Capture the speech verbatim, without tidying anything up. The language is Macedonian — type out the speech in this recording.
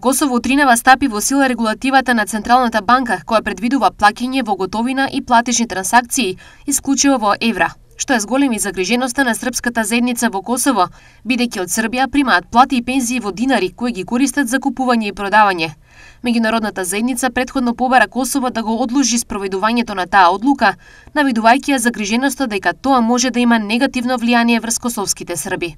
Косово утринава стапи во сила регулативата на Централната банка, која предвидува плаќање во готовина и платежни трансакции, исклучиво во евра, што е зголеми загриженоста на српската заедница во Косово, бидејќи од Србија примаат плати и пензии во динари кои ги користат за купување и продавање. Меѓународната заедница претходно побара Косово да го одложи спроведувањето на таа одлука, навидувајќи ја загриженоста дека тоа може да има негативно влијание врз косовските Срби.